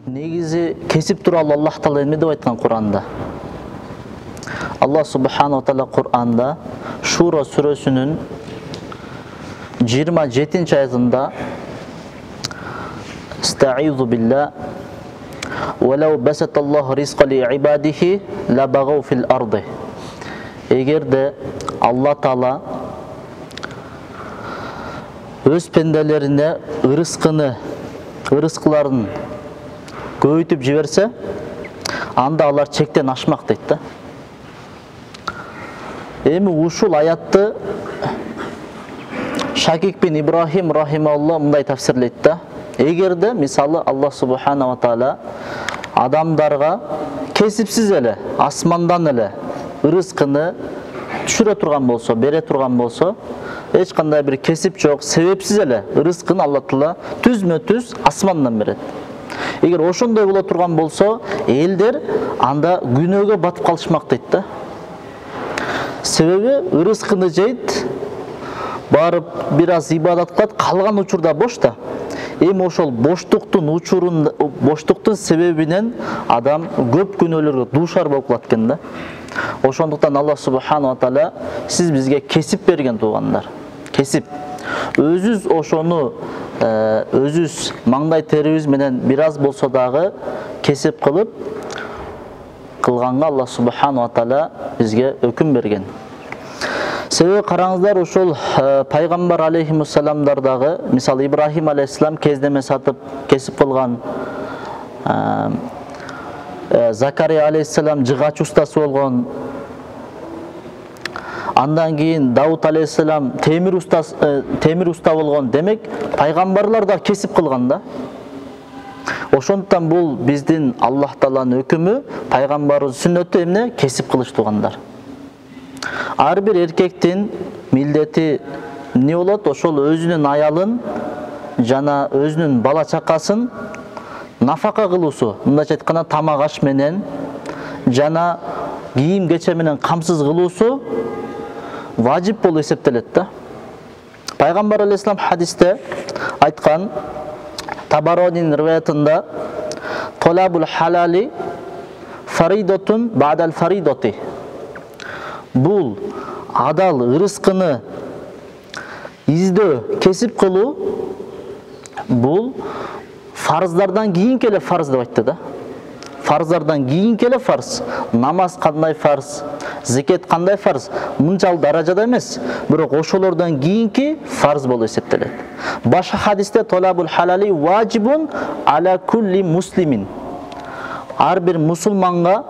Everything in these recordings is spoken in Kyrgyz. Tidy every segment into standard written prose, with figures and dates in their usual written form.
негизи кесип тууралуу Аллах Таала эме деп айткан Кур'анда? Аллах субханаху ва таала Кур'анда Шура сүрөсүнүн 27-аятында Ста'изу билла وَلَوْ بَسَطَ اللَّهُ رِزْقَ لِعِبَادِهِ لَبَغَوْا فِي الْأَرْضِ. Эгерде Алла Таала өз пенделерине ырыскыларын көбөйтүп жиберсе, анда алар чектен ашмак дейт да. Эми ушул аятты Шакик бин Ибрахим рахималлах мындай тафсирлейт да. Эгерде мисалы Аллах субхана ва таала адамдарга кесипсиз эле асмандан эле ырыскыны түшүрө турган болсо, бере турган болсо, эч кандай бир кесип жок, себепсиз эле ырыскын Алла Таала түзмө-түз асмандан берет. Эгер ошондой боло турган болсо, элдер анда күнөөгө батып калышмак дейт да. Себеби ырыскыны жейт, барып бир аз ибадат кылат, калган учурда бош да. Эми ошол боштуктун себебинен адам көп күнөөлөргө дуушар болуп калат экен да. Ошондуктан Аллах субхана ва таала сиз бизге кесип берген туугандар. Кесип. Өзүбүз ошону өзүбүз маңдай терибиз менен бир аз болсо дагы кесип кылганга Аллах субхана ва таала бизге өкүм берген. Себеби караңыздар, ошол пайгамбар алейхимуссаламдар дагы, мисалы Ибрахим алейхиссалам кездеме сатып кесип кылган, Закария алейхиссалам жыгач устасы болгон, андан кийин Давуд алейхиссалам темир уста болгон. Демек, пайгамбарлар да кесип кылган да. Ошондуктан бул биздин Аллах Тааланын өкүмү, пайгамбардын сүннөтү эмне? Кесип кылыш туугандар. Ар бир эркектин милдети эмне болот? Ошол өзүнүн аялын жана өзүнүн бала чакасын нафака кылуусу, мындайча айтканда тамак аш менен жана кийим кече менен камсыз кылуусу важип болуп эсептелет да. Пайгамбар алейхиссалам хадисте айткан, Табаронин риваятында, толабул халали фаридотун ба'дал фаридоти. Бул адал ырыскыны издөө, кесип кылуу, бул фарыздардан кийинки эле фарз деп айтты да. Фарыздардан кийинки эле фарз. Намаз кандай фарз, зекет кандай фарз, мынчал даражада эмес, бирок ошолордон кийинки фарз болуп эсептелет. Башка хадисте толабул халали важибун аля кулли муслимин. Ар бир мусулманга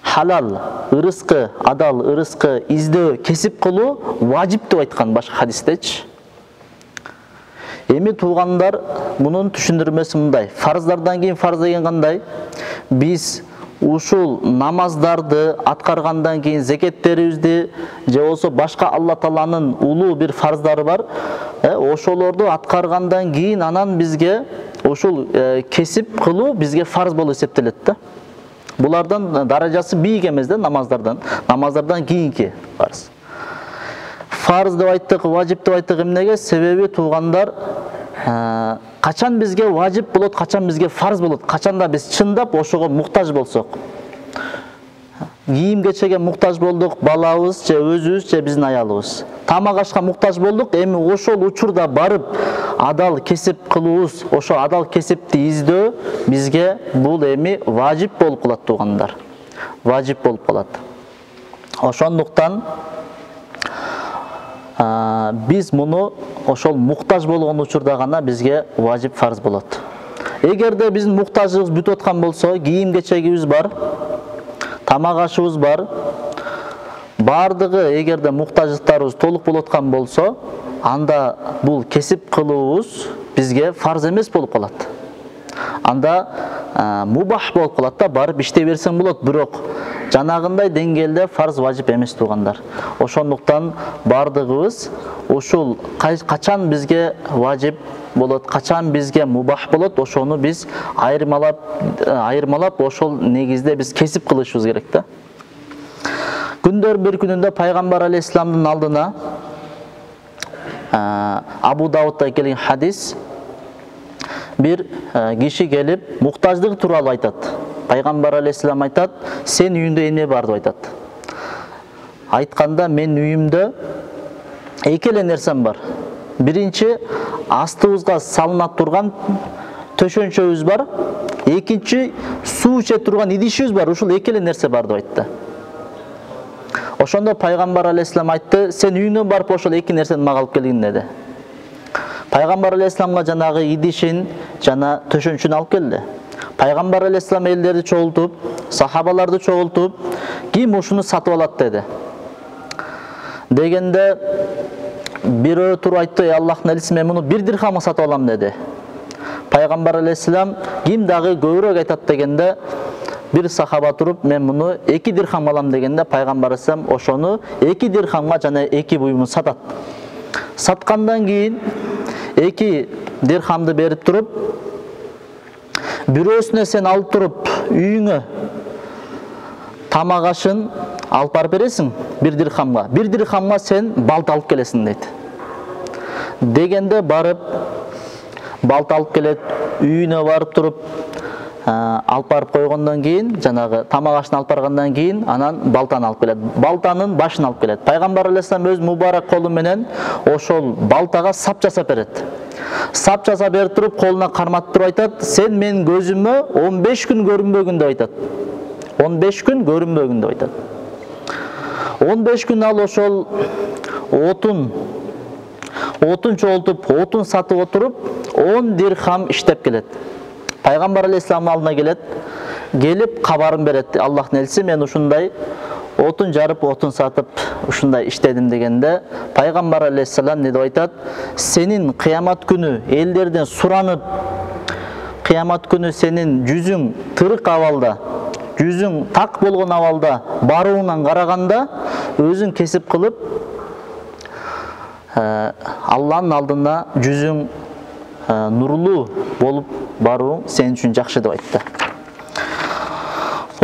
халал ырыскы, адал ырыскы издөө, кесип кылуу важип деп айткан башка хадистечи. Эми туугандар, мунун түшүндүрмөсү мындай. Фарыздардан кийин фарз деген кандай? Биз ушул намаздарды аткаргандан кийин зекеттерибизди же болсо башка Алла Тааланын улуу бир фарздары бар, ошолорду аткаргандан кийин анан бизге ушул кесип кылуу бизге фарз болуп эсептелет да. Булардан даражасы бийик эмес да, намаздардан кийинки фарз. Фарз деп айттык, важип деп айттык эмнеге? Себеби туугандар, качан бизге важип болот, качан бизге фарз болот, качанда биз чындап ошого муктаж болсок. Кийим кечеге муктаж болдук, балабыз же өзүбүз же биздин аялыбыз. Тамак ашка муктаж болдук, эми ошол учурда барып адал кесип кылуубуз, ошо адал кесипти издөө бизге бул эми важип болуп калат туугандар. Важип болуп калат. Ошондуктан биз муну ошол муктаж болгон учурда гана бизге важип фарз болот. Эгерде биздин муктажыбыз бүтүп аткан болсо, кийим кечегибиз бар, тамак ашыбыз бар, бардыгы эгерде муктаждыктарыбыз толук болуп аткан болсо, анда бул кесип кылуубуз бизге фарз эмес болуп калат. Анда мубах болуп калат да, барып иштей берсең болот, бирок жанагындай деңгээлде фарз важип эмес туугандар. Ошондуктан бардыгыбыз ушул качан бизге важип болот, качан бизге мубах болот, ошону биз айырмалап ошол негизде биз кесип кылышыбыз керек да. Күндөр бир күнүндө пайгамбар алейхиссаламдын алдына Абу Даудда келген хадис, бир киши келип муктаждык тууралуу айтат. Пайгамбар алейхиссалам айтат, сен үйүндө эмне бар деп айтат. Айтканда, мен үйүмдө эки эле нерсем бар. Биринчи, астыбызга салына турган төшөнчөбүз бар. Экинчи, суу иче турган идишибиз бар. Ушул эки эле нерсе бар деп айтты. Ошондо Пайгамбар алейхиссалам айтты, сен үйүңдөн барып ошол эки нерсени мага алып келгин деди. Пайгамбар алейхиссаламга жанагы идишин жана төшөнчүн алып келди. Пайгамбар алейхиссалам элдерди чогултуп, сахабаларды чогултуп, ким ушуну сатып алат деди. Дегенде бирөө туруп айтты, Аллахтын элчиси, мен муну 1 дирхамга сатып алам деди. Пайгамбар алейхиссалам, ким дагы көбүрөөк айтат дегенде, бир сахаба туруп, мен муну 2 дирхамга алам дегенде, Пайгамбар алейхиссалам ошону 2 дирхамга жана 2 буюмун сатат. Саткандан кийин 2 дирхамды берип туруп, бирөөсүнө сен алып туруп үйүңө тамак ашын алып барып бересиң 1 дирхамга. 1 дирхамга сен балта алып келесиң дейт. Дегенде барып балта алып келет, үйүнө барып туруп алып барып койгондон кийин, жанагы тамак ашын алып баргандан кийин, анан балтаны алып келет. Балтанын башын алып келет. Пайгамбар алейхиссалам өз мубарак колу менен ошол балтага сап жасап берет. Сап жасап берип туруп, колуна карматып туруп айтат, сен менин көзүмө 15 күн көрүнбөгүн деп айтат. 15 күн көрүнбөгүн деп айтат. 15 күн ал ошол отун чогултуп, отун сатып отуруп, 10 дирхам иштеп келет. Пайгамбар алейхиссаламдын алдына келет, келип кабарын берет. Аллахтын элчиси, мен ушундай отун жарып, отун сатып, ушундай иштедим дегенде, Пайгамбар алейхиссалам не деп айтат? Сенин кыямат күнү элдерден суранып, кыямат күнү сенин жүзүң тырык абалда, жүзүң так болгон абалда барууңан караганда, өзүң кесип кылып, Алланын алдына жүзүң нурлуу болуп барууң сен үчүн жакшы деп айтты.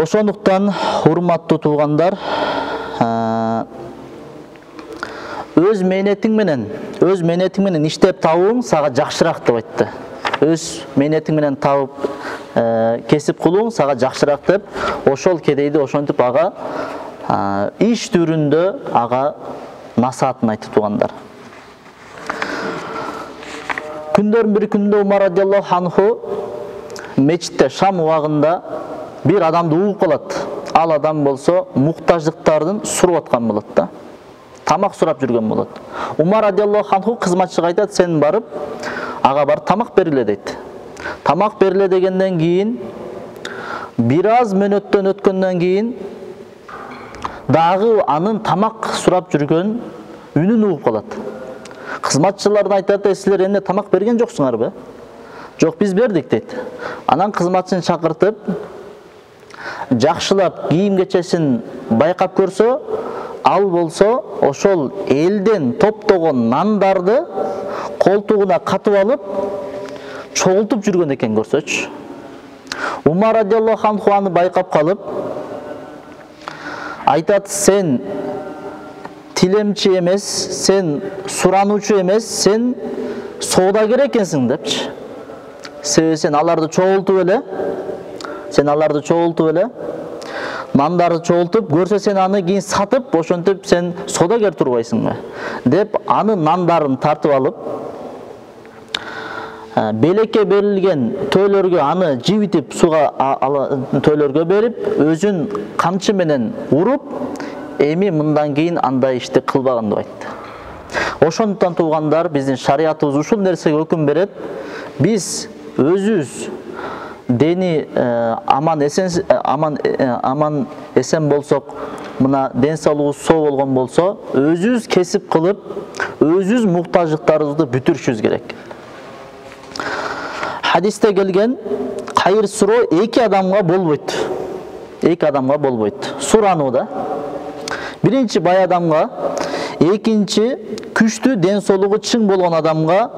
Ошондуктан, урматтуу туугандар, өз мээнетиң менен иштеп табууң сага жакшыраак деп айтты. Өз мээнетиң менен табып кесип кылууң сага жакшыраак деп, ошол кедейди ошентип ага иш түрүндө ага насаатын айтты туугандар. Күндөрдүн бир күндө Умар радиаллаху анху мечитте Шам убагында бир адамды угуп калат. Ал адам болсо муктаждыктардын сурап аткан болот да. Тамак сурап жүргөн болот. Умар радиаллаху анху кызматчыга айтат, сен барып ага барып тамак бериле дейт. Тамак бериле дегенден кийин бир аз мөөнөттөн өткөндөн кийин дагы анын тамак сурап жүргөн үнүн угуп калат. Кызматчылардан айтат, силер эмне тамак берген жоксуңарбы? Жок, биз бердик дейт. Анан кызматчыны чакыртып, жакшылап кийим кечесин байкап көрсө, ал болсо ошол элден топтогон нандарды колтугуна катып алып, чогултуп жүргөн экен көрсөчү. Умар радиаллаху анху аны байкап калып, айтат, сен тилемчи эмес, сен сурануучу эмес, сен соодагер экенсиң депчи. Сен аларды чогултуп эле, нандарды чогултуп, көрсө сен аны кийин сатып, ошентип сен соодагер турбайсыңбы деп, анын нандарын тартып алып, белекке берилген төөлөргө аны жибитип, суга төөлөргө берип, өзүн камчы менен уруп, эми мындан кийин андай ишти кылбаган деп айтты. Ошондуктан туугандар, биздин шариятыбыз ушул нерсеге өкүм берет. Биз өзүбүз дени аман эсен болсок, мына ден соолугубуз соо болгон болсо, өзүбүз кесип кылып, өзүбүз муктаждыктарыбызды бүтүрүшүбүз керек. Хадисте келген, кайыр суроо 2 адамга болбойт. 2 адамга болбойт. Сурануу да. Биринчи бай адамга, экинчи күчтүү ден соолугу чың болгон адамга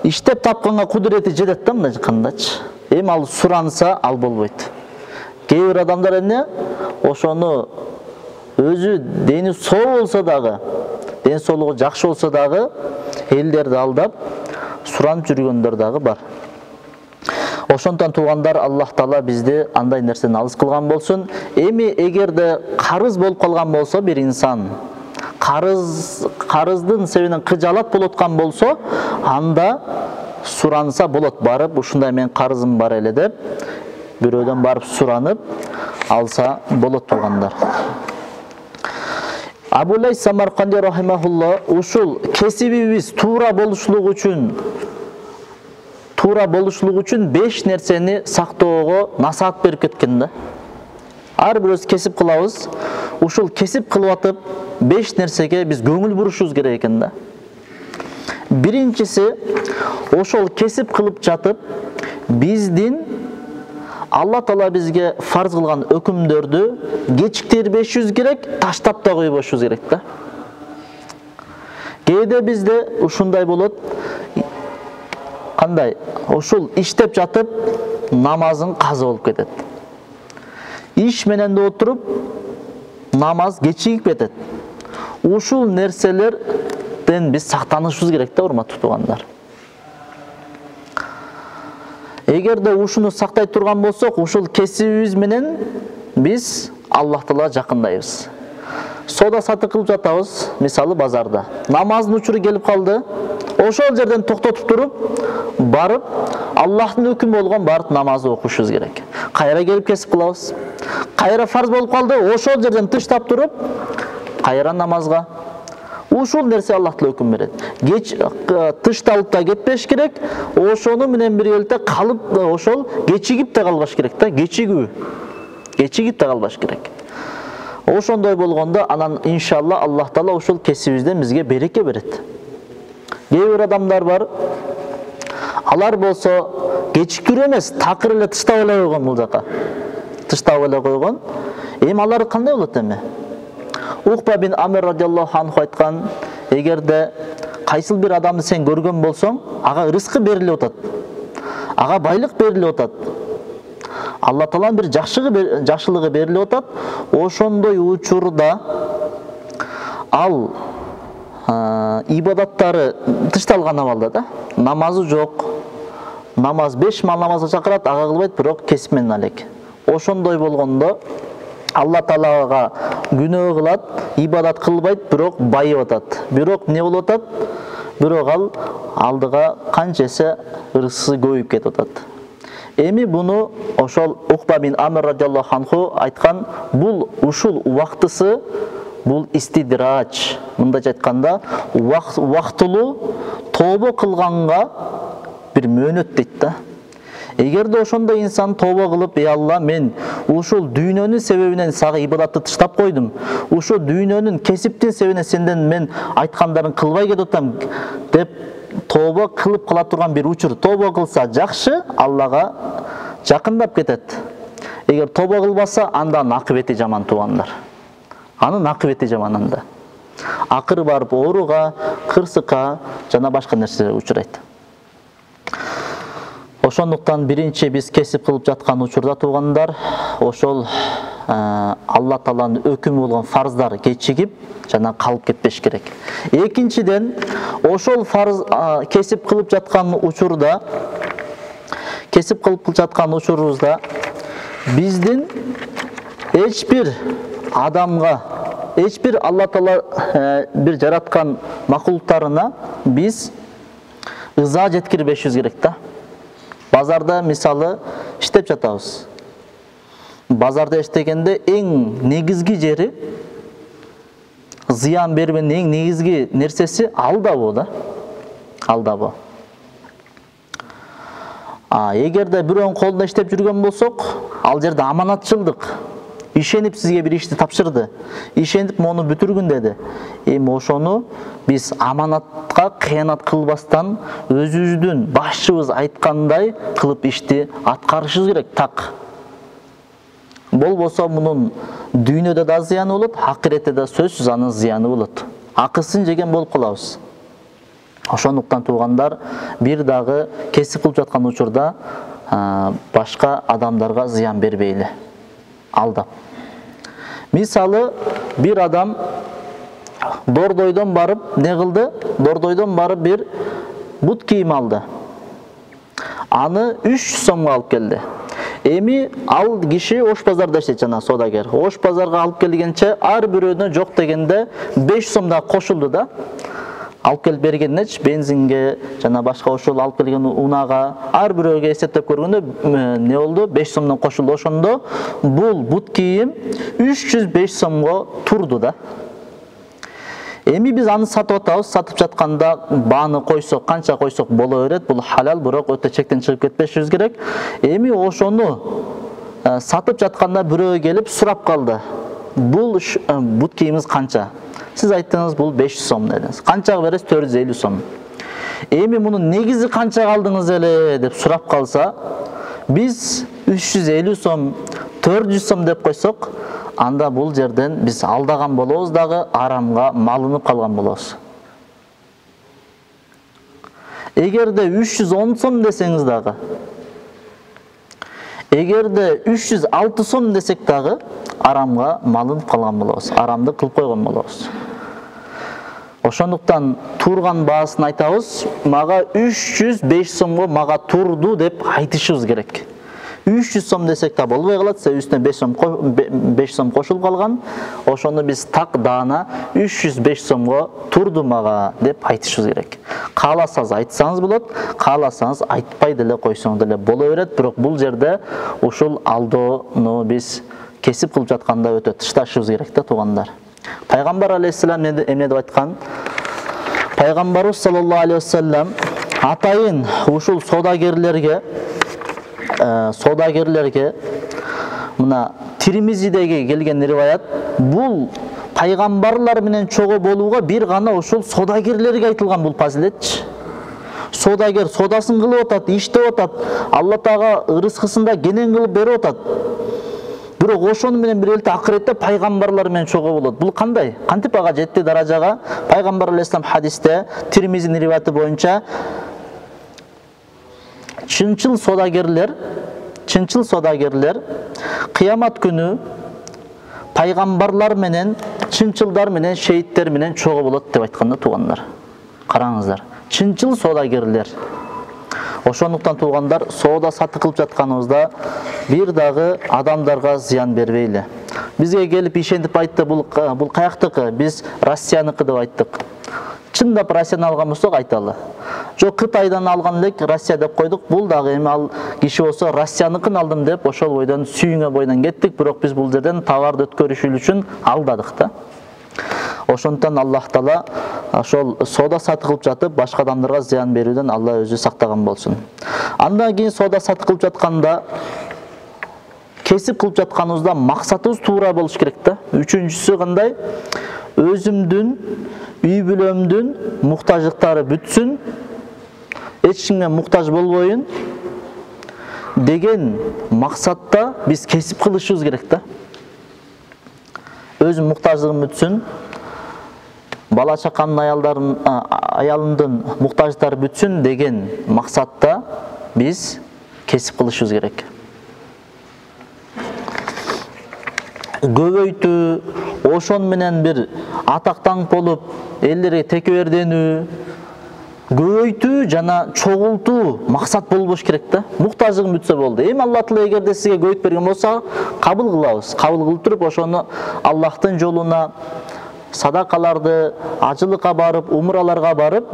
иштеп тапканга кудурети жетет да, мындай кандачы. Эми ал суранса, ал болбойт. Кээ бир адамдар эмне? Ошону өзү дени соо болсо дагы, ден соолугу жакшы болсо дагы, элдерди алдап суранып жүргөндөр дагы бар. Ошондон туугандар, Аллах Таала бизди андай нерседен алыс кылган болсун. Эми эгерде карыз болуп калган болсо бир инсан карыздын себебинен кыжалат болуп аткан болсо, анда суранса болот, барып ушундай мен карызым бар эле деп бирөөдөн барып суранып алса болот туугандар. Абу Лейс Самарканди рахимахулла ушул кесибибиз туура болушлугу үчүн 5 нерсени сактоого насаат берип кеткен да. Ар бирөөбүз кесип кылабыз. Ушул кесип кылып атып 5 нерсеге биз көңүл бурушубуз керек экен да. Биринчиси, ошол кесип кылып жатып биздин Алла Таала бизге фарз кылган өкүмдөрдү кечиктирбешибиз керек, таштап да койбошубуз керек да. Кээде бизде ушундай болот. Кандай? Ошол иштеп жатып намазың каза болуп кетет. Иш менен да отуруп намаз кечигип кетет. Ушул нерселерден биз сактанышыбыз керек да, урматтуу туугандар. Эгерде ушуну сактай турган болсок, ушул кесибибиз менен биз Аллах Таалага жакындайбыз. Сода сатып кылып жатабыз, мисалы базарда. Намаздын учуру келип калды. Ошол жерден токтотуп туруп, барып Аллахтын өкүмү болгон барып намазды окушубуз керек. Кайра келип кесип кылабыз. Кайра фарз болуп калды, ошол жерден тыштап туруп, кайра намазга. Ушул нерсе Аллах Таала өкүм берет. Тышталып да кетпеш керек, ошону менен биргеликте калып, ошол кечигип да калбаш керек да, кечигип да калбаш керек. Ошондой болгондо анан иншалла Аллах Таала ушул кесибибизден бизге береке берет. Кээ бир адамдар бар, алар болсо кечиктирүү эмес, такыр эле тыштап эле койгон бул жака. Тыштап эле койгон. Эми алар кандай болот эми? Ухба бин Амир радиаллаху анху айткан, эгерде кайсыл бир адамды сен көргөн болсоң, ага рызкы берилип атат. Ага байлык берилип атат. Алла Тааланын бир жакшылыгы берилип атат. Ошондой учурда ал ибадаттары тышталган абалда да, намазы жок. Намаз 5 мал намазга чакырат, ага кылбайт, бирок кесип менен алек. Ошондой болгондо Алла Таалага күнөө кылат, ибадат кылбайт, бирок байып атат. Бирок не болуп атат? Бирок ал алдыга канчасы рызкысы көбөйүп кетип атат. Эми буну ошол Ухба бин Амир радиаллаху анху айткан, бул ушул убактысы, бул истидрач. Мындайча айтканда, убактылуу тобо кылганга бир мөөнөт дейт да. Эгерде ошондой инсан тобо кылып, Алла, мен ушул дүйнөнүн себебинен сага ибадатты тыштап койдум. Ушул дүйнөнүн кесиптин себебинен сенден мен айткандарын кылбай кетип атам деп тобо кылып кала турган бир учур. Тобо кылса жакшы, Аллага жакындап кетет. Эгер тобо кылбаса, андан акыбети жаман туугандар. Анын акыбети жаман анда. Акыры барып ооруга, кырсыкка жана башка нерселерге учурайт. Ошондуктан биринчи биз кесип кылып жаткан учурда туугандар, ошол Алла Тааланын өкүмү болгон фарздар кечигип жана калып кетпеш керек. Экинчиден, ошол фарз кесип кылып жаткан учурубузда биздин эч бир адамга, эч бир Алла Таала бир жараткан макулуктарына биз ыза жеткирбешибиз керек да. Базарда мисалы иштеп жатабыз. Базарда иштегенде эң негизги жери, зыян бербенин эң негизги нерсеси алдабоо да. Алдабоо. Эгерде бирөөнүн колунда иштеп жүргөн болсок, ал жерде аманатчылдык. Ишенип сизге бир ишти тапшырды. Ишенип мону бүтүргүн деди. Эми ошону биз аманатка кыянат кылбастан өзүбүздүн башчыбыз айткандай кылып ишти аткарышыбыз керек, так. Болбосо мунун дүйнөдө да зыяны болот, акыретте да сөзсүз анын зыяны болот. Акысын жеген болуп калабыз. Ошондуктан туугандар, бир дагы кесип кылып жаткан учурда башка адамдарга зыян бербейли. Алдап. Мисалы, бир адам Дордойдон барып не кылды? Дордойдон барып бир бут кийим алды. аны 300 сомго алып келди. Эми ал киши Ош базарда иштейт, жана соодагер. Ош базарга алып келгенче ар бирөөнө жок дегенде 500 сом да кошулду да. Алып келип бергеннечи бензинге жана башка ошол алып келген унага ар бирөөгө эсептеп көргөндө не болду? 5 сомдон кошулду. Ошондо бул бут кийим 305 сомго турду да. Эми биз аны сатып атабыз. Сатып жатканда бааны койсок, канча койсок боло берет. Бул халал, бирок өтө чектен чыгып кетпешибиз керек. Эми ошону сатып жатканда бирөө келип сурап калды. Бул бут кийимиз канча? Сиз айттыңыз бул 500 сом дедиңиз. Канчага бересиз? 450 сом. Эми мунун негизи канчага алдыңыз эле деп сурап калса, биз 350 сом, 400 сом деп койсок, анда бул жерден биз алдаган болобуз дагы, арамга малынып калган болобуз. Эгерде 310 сом десеңиз дагы, эгерде 306 сом десек дагы, арамга малынып калган болобуз. Арамды кылып койгон болобуз. Ошондуктан турган баасын айтабыз, мага 305 сомго мага турду деп айтышыбыз керек. 300 сом десек да болбой калат, үстүнө 5 сом кошулуп калган. Ошону биз так даана 305 сомго турду мага деп айтышыбыз керек. Кааласаңыз айтсаңыз болот, кааласаңыз айтпай деле койсоңуз деле боло берет, бирок бул жерде ушул алдоону биз кесип кылып жатканда өтө тышташыбыз керек да, туугандар. Пайгамбар алейхиссалам эмне деп айткан? Пайгамбарыбыз саллаллаху алейхи вассалам атайын ушул соодагерлерге мына Тирмизидеги келген риваят, бул пайгамбарлар менен чогуу болууга бир гана ушул соодагерлерге айтылган бул фазилетчи. Соодагер соодасын кылып атат, иштеп атат, Алла Таала ырыскысында кенен кылып берип атат. Бирок ошону менен бирге акыретте пайгамбарлар менен чогуу болот. Бул кандай? Кантип ага жетти даражага? Пайгамбар алейхиссалам хадисте Тирмизинин риваяты боюнча чынчыл соодагерлер кыямат күнү пайгамбарлар менен, чынчылдар менен, шейиттер менен чогуу болот деп айтканда, туугандар. Караңыздар, чынчыл соодагерлер. Ошондуктан туугандар, соода сатып кылып жатканыбызда бир дагы адамдарга зыян бербейли. Бизге келип ишентип айтты, бул каяктыкы? Биз Россияныкы деп айттык. Чындап Россиядан алган болсок айталы. Жок, Кытайдан алган элек, Россия деп койдук. Бул дагы эми ал киши болсо Россияныкын алдым деп ошол бойдон сүйүнгө бойдон кеттик, бирок биз бул жерден товарды өткөрүшү үчүн алдадык да. Ошондуктан Аллах Таала ошол соода сатып кылып жатып башка адамдарга зыян берүүдөн Алла өзү сактаган болсун. Андан кийин соода сатып кылып жатканда, кесип кылып жатканыбызда максатыбыз туура болуш керек да. Үчүнчүсү кандай? Өзүмдүн, үй бүлөмдүн муктаждыктары бүтсүн, эч кимге муктаж болбоюн деген максатта биз кесип кылышыбыз керек да. Өзүм муктаждыгым бүтсүн, бала чакамдын, аялымдын муктаждыктары бүтсүн деген максатта биз кесип кылышыбыз керек. Көбөйтүү, ошон менен бир атактан болуп, элдерге текеберденүү, көбөйтүү жана чогултуу максат болбош керек да. Муктаждыгым бүтсө болду. Эми Алла Таала эгерде сизге көбөйтүп берген болсо, кабыл кылабыз. Кабыл кылып туруп, ошону Аллахтын жолуна, садакаларды, ажылыкка барып, умраларга барып,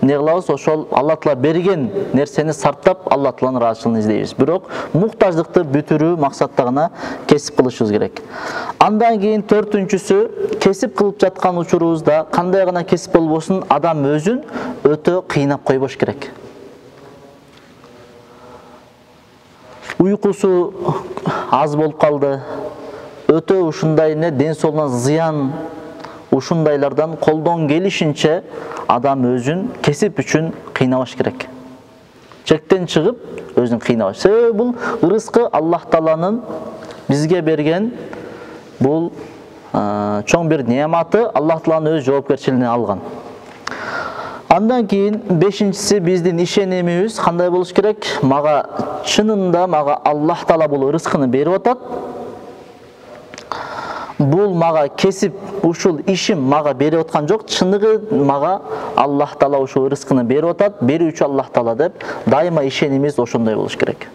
не кылабыз? Ошол Алла Таала берген нерсени сарптап, Алла Тааланын ыраазычылыгын издейбиз. Бирок муктаждыкты бүтүрүү максатта гана кесип кылышыбыз керек. Андан кийин төртүнчүсү, кесип кылып жаткан учурубузда кандай гана кесип болбосун, адам өзүн өтө кыйнап койбош керек. Уйкусу аз болуп калды, өтө ушундай ден соолугуна зыян, ушундайлардан колдон келишинче адам өзүн кесип үчүн кыйнабаш керек. Чектен чыгып өзүн кыйнабаш. Себеби бул ырыскы Аллах Тааланын бизге берген бул чоң бир неаматы, Аллах Тааланын өз жоопкерчилигине алган. Андан кийин бешинчиси, биздин ишенимибиз кандай болуш керек? Мага чынында Аллах Таала бул ырыскыны берип атат. бул мага кесип, ушул ишим мага берип аткан жок, чыныгы мага Аллах Таала ушул рызкыны берип атат, берүүчү Аллах Таала деп дайыма ишенимиз ошондой болуш керек.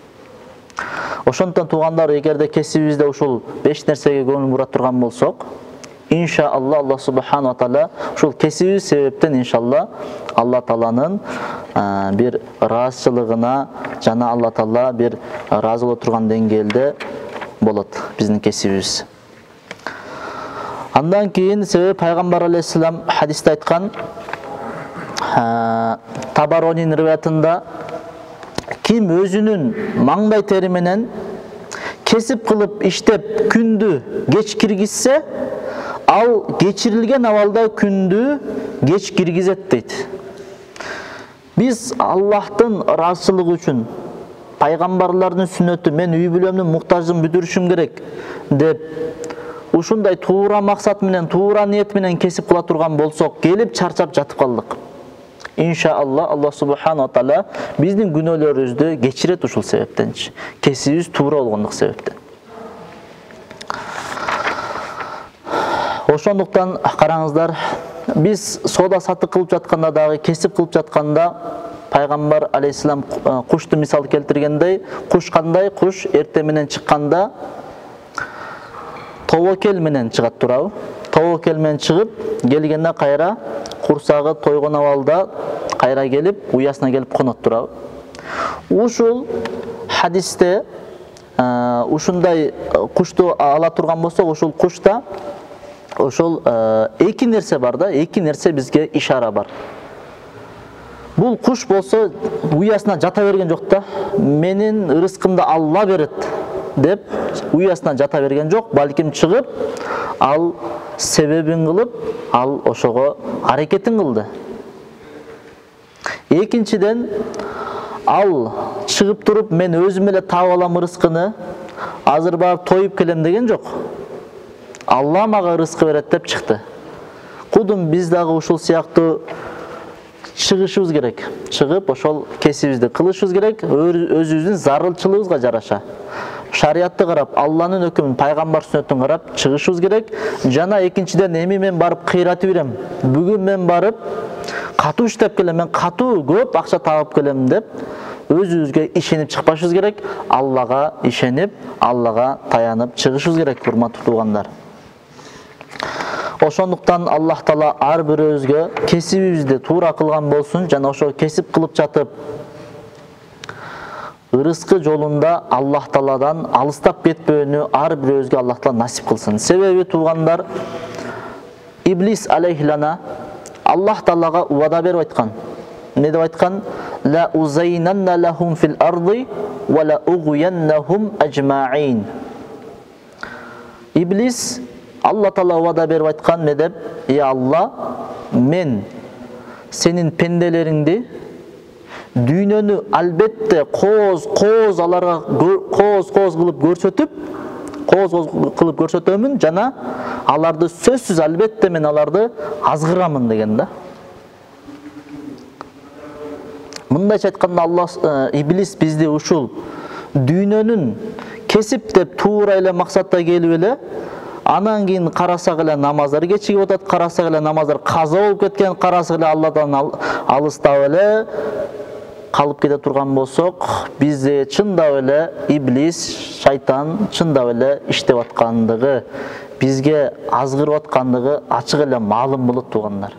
Ошондон туугандар, эгерде кесибибизде ушул 5 нерсеге көңүл бура турган болсок, иншалла Аллах субхана ва таала ушул кесибибиз себептен иншалла Алла Тааланын бир ыраазычылыгына жана Алла Таала бир ыраазы боло турган деңгээлде болот биздин кесибибиз. Андан кийин себеби пайгамбар алейхиссалам хадисте айткан, Табаронин риваятында, ким өзүнүн маңдай тери менен кесип кылып иштеп күндү кеч киргизсе, ал кечирилген абалда күндү кеч киргизет дейт. Биз Аллахтын ыраазычылыгы үчүн, пайгамбарлардын сүннөтү, мен үй бүлөмдүн муктаждыгын бүтүрүшүм керек деп ушундай туура максат менен, туура ниет менен кесип кыла турган болсок, келип чарчап жатып калдык. Иншалла Аллах субхана ва таала биздин күнөөлөрүбүздү кечирет ушул себептенчи. Кесибибиз туура болгондук себептен. Ошондуктан караңыздар, биз соода сатык кылып жатканда дагы, кесип кылып жатканда пайгамбар алейхиссалам кушту мисал келтиргендей, куш кандай? Куш эрте менен чыкканда тобокел менен чыгат турабы? Тобокел менен чыгып, келгенде кайра курсагы тойгон абалда кайра келип, уясына келип конот турабы? Ушул хадисте ушундай кушту ала турган болсок, ушул кушта ошол эки нерсе бар да, эки нерсе бизге ишара бар. Бул куш болсо уясына жата берген жок да, менин рызкымды Алла берет деп уясына жата берген жок, балким чыгып, ал себебин кылып, ал ошого аракетин кылды. Экинчиден, ал чыгып туруп, мен өзүм эле таап алам рызкыны, азыр барып тоюп келем деген жок. Алла мага рызкы берет деп чыкты. Кудум биз дагы ушул сыяктуу чыгышыбыз керек. Чыгып, ошол кесибибизди кылышыбыз керек, өзүбүздүн зарылчылыгыбызга жараша. Шариятты карап, Алланын өкүмүн, пайгамбар сүннөтүн карап чыгышыбыз керек. Жана экинчиден, эми мен барып кыйратып берем. Бүгүн мен барып катуу иштеп келем, мен катуу көп акча таап келем деп өзүбүзгө ишенип чыкпашыбыз керек. Аллага ишенип, Аллага таянып чыгышыбыз керек, урматтуу туугандар. Ошондуктан Аллах Таала ар бирөөбүзгө кесибибизди туура кылган болсун, жана ошо кесип кылып жатып рызкы жолунда Аллах Тааладан алыстап кетпөөнү ар бирөөбүзгө Аллах Таала насип кылсын. Себеби туугандар, Иблис алейхилана Аллах Таалага убада берип айткан. Не деп айткан? Ла узайнанна лахум фил арди ва ла угуяннахум ажмаин. Иблис Алла Таала убада берип айткан, не деп? Алла, мен сенин пенделериңди дүйнөнү албетте кооз аларга кооз кылып көрсөтөмүн, жана аларды сөзсүз албетте мен аларды азгырамын деген да. Мындайча айтканда, Алла Иблис бизди ушул дүйнөнүн кесип деп туура эле максатта келип эле, анан кийин карасак эле намаздар кечигип атат, карасак эле намаздар каза болуп кеткен, карасак эле Алладан алыстап эле калып кете турган болсок, бизде чындап эле Иблис, шайтан чындап эле иштеп аткандыгы, бизге азгырып аткандыгы ачык эле маалым болот туугандар.